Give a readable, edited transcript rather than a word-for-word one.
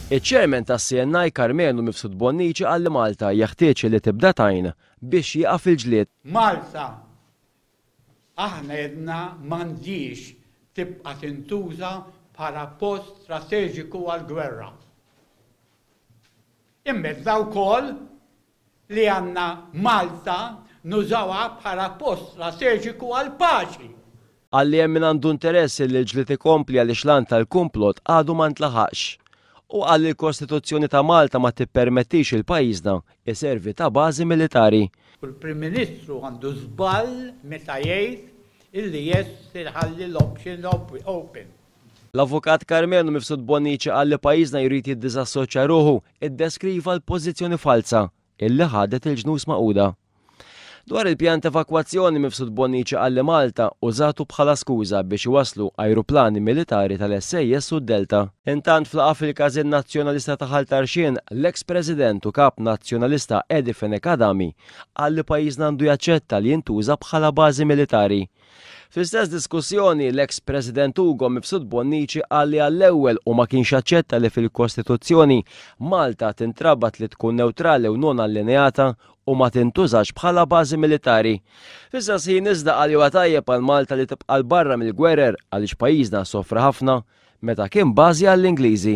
Iċ-Chairman tas-CNI Karmenu Mifsud Bonnici qal li Malta jeħtieġ li tibda tgħin biex jieqaf il-ġlied. Malta, aħna għedna m'għandhiex tibqa' tintuża bħala post strateġiku għall-gwerra. Imma għedna wkoll li għandna Malta nużawha bħala post strateġiku għall-paċi. Qal li hemm min għandu interess li l-ġlied ikompli għaliex l-għan tal-kumplott għadu ma ntlaħaqx. Hu qal li l-Kostituzzjoni ta' Malta ma tippermettix il pajjiżna jservi ta' bażi militari. U l-Prim Ministru għandu żball meta jgħid illi yes iħalli l-option open. L-Avukat Karmenu Mifsud Bonnici qal li pajjiżna jrid jiddiżassoċja ruħu, iddeskriva l-pożizzjoni falza illi ħadet il-Ġnus Magħquda. Dwar il-pjan ta' evakwazzjoni Mifsud Bonnici qal li Malta użatu bħala skuża biex iwasslu ajruplani militari tal-SAS u d-Delta. Intant f'laqgħa fil-Każin Nazzjonalista ta' Ħal Tarxien, l-eks President u Kap Nazzjonalista Eddie Fenech Adami qal li pajjiżna għandu jaċċetta li jintuża bħala bażi militari. Fl-istess diskussjoni, l-eks President Ugo Mifsud Bonnici qal li għall-ewwel hu ma kienx aċċetta li fil-Kostituzzjoni Malta tintrabat li tkun newtrali u non allineata u ma tintużax bħala bażi militari. Fl-istess ħin iżda qal li huwa tajjeb għal Malta li tibqa' 'l barra mill-gwerer għaliex pajjiżna sofra ħafna meta kien bażi għall-Ingliżi.